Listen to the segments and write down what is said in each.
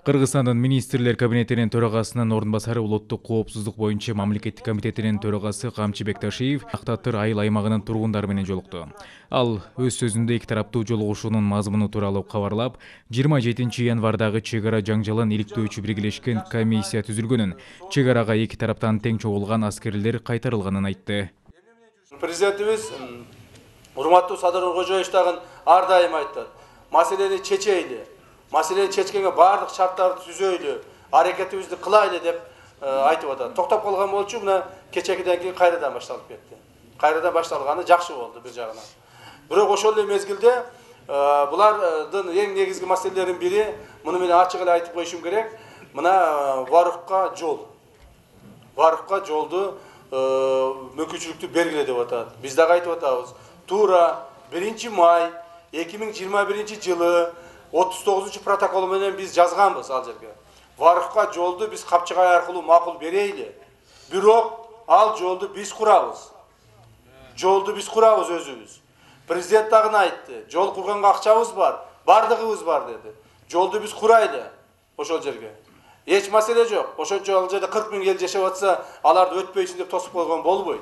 Кыргызстандын министрлер кабинетинин төрагасынын орун басары улуттук коопсуздук боюнча мамлекеттик комитетинин төрагасы Камчы Бекташиев Ак-Татыр айыл аймагынын тургундары менен жолукту. Ал өз сөзүндө эки тараптуу жолугушуунун мазмуну тууралуу кабарлап, 27 январдагы чек ара жаңжалын иликтөөчү биргелешкен комиссия түзүлгөнүн, чек арага эки тараптан тең чогулган аскерлер кайтарылганын айтты. Президентибиз урматтуу Садыр Нуркожоевич дагы ар дайым айтат. Маселени чечейли. Маселени чечкенге бардык шарттарды түзөйлү, аракетибизди кылайлы деп айтып атат. Токтоп калган болчу, мына кечекиден кийин кайрадан башталып кетти. Кайрадан башталганы жакшы болду бир жагынан. Бирок ошол эле мезгилде булардын эң негизги маселелеринин бири, муну мен ачык эле айтып коюшум керек, мына Варукка жол. Варукка жолду мүмкүнчүлүктү бергиле деп атат. Биз дагы айтып атабыз. Туура 1 май 2021 жылы 39 протокол менен биз жазганбыз ал жерге. Варукка жолду биз Капчыгай аркылуу макул берейли. Бирок ал жолду биз курабыз. Жолду биз курабыз өзүбүз. Президент дагы айтты. Жол курганга акчабыз бар, бардыгыбыз бар деди. Жолду биз курайлы ошол жерге. Эч маселе жок. Ошончо ал жерде 40 000 эл жашап атса, аларды өтпөйсүн деп тосуп койгон болбойт.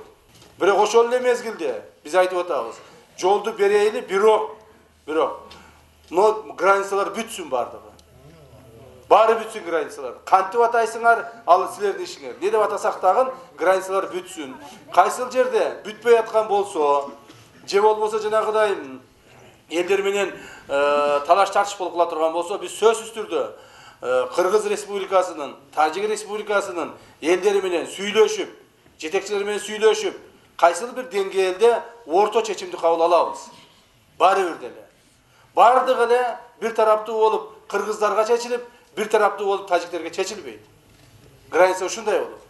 Бирок ошол эле мезгилде биз айтып атабыз. Жолду берейли, бирок но границалар бүтсүн бардыгы. Баары бүтсүн границалар. Кантип атайсыңар, ал силердин ишиңер. Не деп атасак дагы границалар бүтсүн. Кайсыл жерде бүтпөй аткан болсо, же болбосо жанагыдай элдер менен талаш тартыш болуп кала турган болсо, биз сөзсүз түрдө Кыргыз Республикасынын, Тажик Республикасынын элдери менен сүйлөшүп, жетекчилери менен сүйлөшүп, кайсыл бир деңгээлде орто чечимди кабыл алабыз. Баары бир деле. Бардыгы эле бир тараптуу болуп кыргыздарга чечилип, бир тараптуу болуп тажиктерге чечилбейт. Граница ушундай болот.